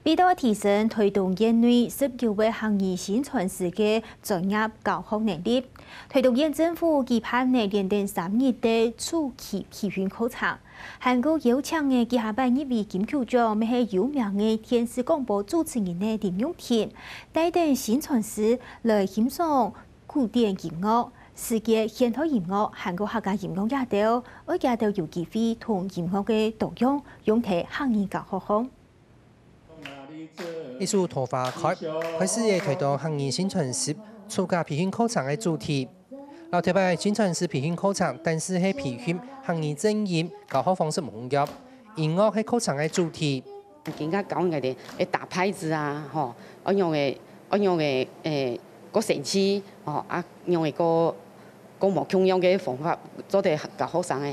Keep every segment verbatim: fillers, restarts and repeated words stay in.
為著提升臺東縣內十九位客語薪傳師个專業教學能力，臺東縣政府舉辦了連等三日个暑期培訓課程，還過邀請个這下擺入圍金球獎乜係有名个電視廣播主持人个林玉婷，帶等薪傳師來欣賞古典音樂、世界現代音樂還過客家音樂這兜，愛佢兜有機會同音樂个多樣用在客語教學項。 一首《桃花開》，開始个臺東客語薪傳師暑假培訓課程个主題。老頭擺薪傳師培訓課程，單淨係培訓客語正音，教學方式無共樣。音樂係課程个主題。今下教人个，會打拍子啊，吼，愛用个，愛用个，誒，个神器，吼，啊，用个个个無共樣个方法，做得教學生个。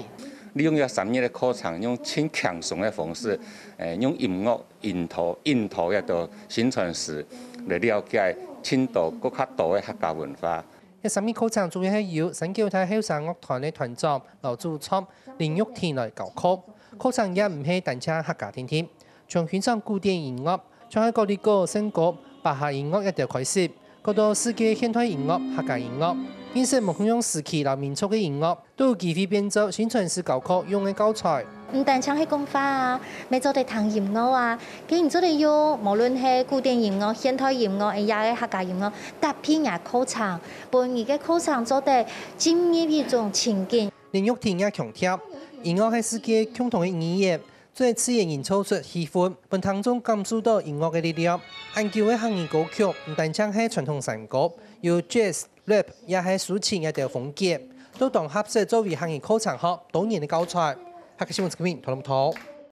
利用這三日个課程，用盡輕鬆个方式，誒，用音樂 引導，引導這兜薪傳師來了解盡多、更加多个客家文化。這三日課程主要係由三九大後生樂團个團長、老主唱林玉婷來教課。課程也毋係單淨客家定定，從欣賞古典音樂，像係高麗歌、聖歌、巴哈音樂這兜開始，過到世界現代音樂、客家音樂，認識無共樣時期摎民族个音樂， 都有機會變做薪傳師教課用个教材。毋單淨係講話啊，乜做得聽音樂啊。該你做得用，無論係古典音樂、現代音樂，也係客家音樂，搭配若課程，分你个課程做得進入一種情境。林玉婷也強調，音樂係世界共同个語言，做得自然營造出氣氛，分聽眾感受到音樂个力量。恁久个客語歌曲，毋單淨係傳統山歌，有jazz、 rap也係抒情這兜風格，都當合適作為客語課程學多年个教材。客家新聞陳明，討論討。